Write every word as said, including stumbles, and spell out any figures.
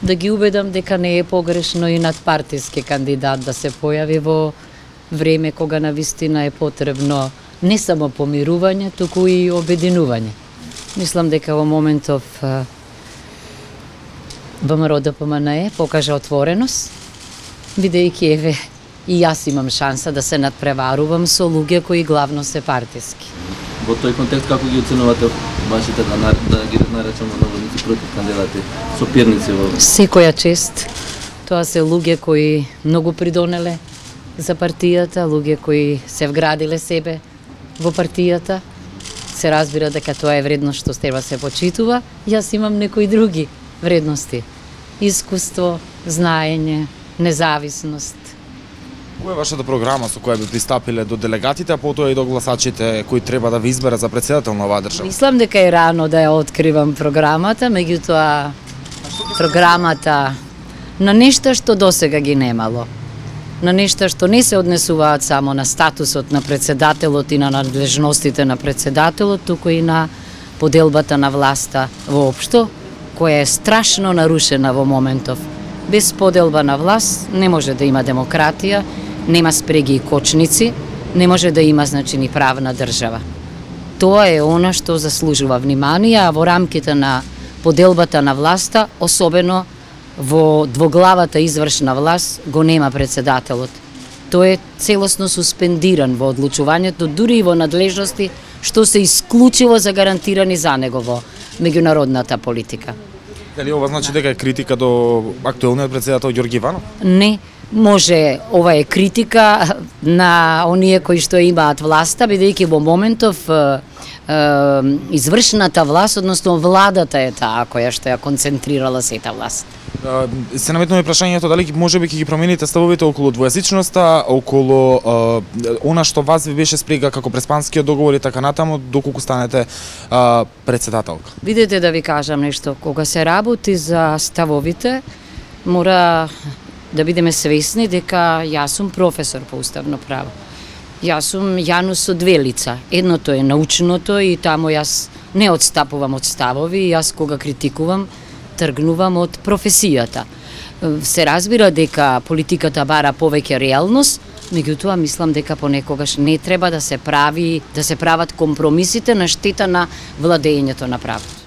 да ги убедам дека не е погрешно и надпартиски кандидат да се појави во време кога навистина е потребно не само помирување, туку и обединување. Мислам дека во моментов ВМРО Д П М Н Е покажа отвореност, бидејќи еве и јас имам шанса да се надпреварувам со луѓе кои главно се партиски. Во тој контекст како ги оценувате вашите, да, да ги наречеме наводници против кандидати, соперници во... Секоја чест. Тоа се луѓе кои многу придонеле за партијата, луѓе кои се вградиле себе во партијата. Се разбира дека тоа е вредност што треба се почитува. Јас имам некои други вредности. Искуство, знаење, независност. Која е вашата програма со која би пристапиле до делегатите, а потоа и до гласачите кои треба да ви изберат за претседател на оваа држава? Мислам дека е рано да ја откривам програмата, меѓутоа програмата на нешта што досега ги немало. На нешта што не се однесуваат само на статусот на претседателот и на надлежностите на претседателот, туку и на поделбата на власта воопшто, која е страшно нарушена во моментов. Без поделба на власт не може да има демократија, нема спреги и кочници, не може да има значи ни правна држава. Тоа е она што заслужува внимание, а во рамките на поделбата на власта, особено во двоглавата извршна власт, го нема претседателот. Тој е целосно суспендиран во одлучувањето, дури и во надлежности што се исклучиво загарантирани за него во меѓународната политика. Дали ова значи дека е критика до актуелниот претседател Ѓорги Иванов? Не, може ова е критика на оние кои што имаат власта, бидејќи во моментов е, е, извршната власт, односно владата е таа која што ја концентрирала сета власт. Се наметнува прашањето дали можеби ќе ги промените ставовите околу двојазичноста, околу е, она што вас ви беше спрега како преспанскиот договор и така натаму, доколку станете е, претседателка. Видете да ви кажам нешто, кога се работи за ставовите, мора да бидеме свесни дека јас сум професор по уставно право. Јас сум јанус со две лица. Едното е научното и таму јас не одстапувам од ставови, јас кога критикувам, тргнувам од професијата. Се разбира дека политиката бара повеќе реалност, меѓутоа мислам дека понекогаш не треба да се прави, да се прават компромисите на штета на владењето на правото.